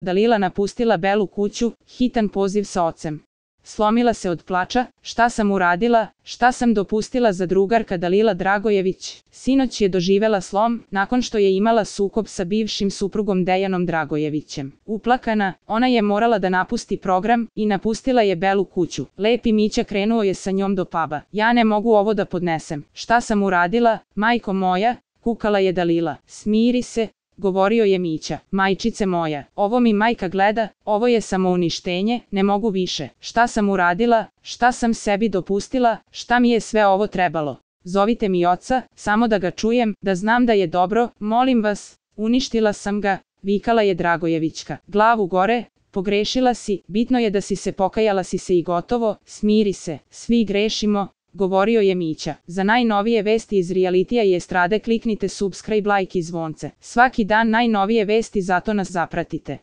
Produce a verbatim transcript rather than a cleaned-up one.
Dalila napustila Belu kuću, hitan poziv sa ocem. Slomila se od plača, šta sam uradila, šta sam dopustila za drugarka Dalila Dragojević. Sinoć je doživela slom, nakon što je imala sukob sa bivšim suprugom Dejanom Dragojevićem. Uplakana, ona je morala da napusti program i napustila je Belu kuću. Lepi Mića krenuo je sa njom do puba. Ja ne mogu ovo da podnesem. Šta sam uradila, majko moja, kukala je Dalila. Smiri se, govorio je Mića. Majčice moja, ovo mi majka gleda, ovo je samouništenje, ne mogu više. Šta sam uradila, šta sam sebi dopustila, šta mi je sve ovo trebalo? Zovite mi oca, samo da ga čujem, da znam da je dobro, molim vas, uništila sam ga, vikala je Dragojevićka. Glavu gore, pogrešila si, bitno je da si se pokajala si se i gotovo, smiri se, svi grešimo, govorio je Mića. Za najnovije vesti iz realitija i estrade kliknite subscribe, like i zvonce. Svaki dan najnovije vesti, zato nas zapratite.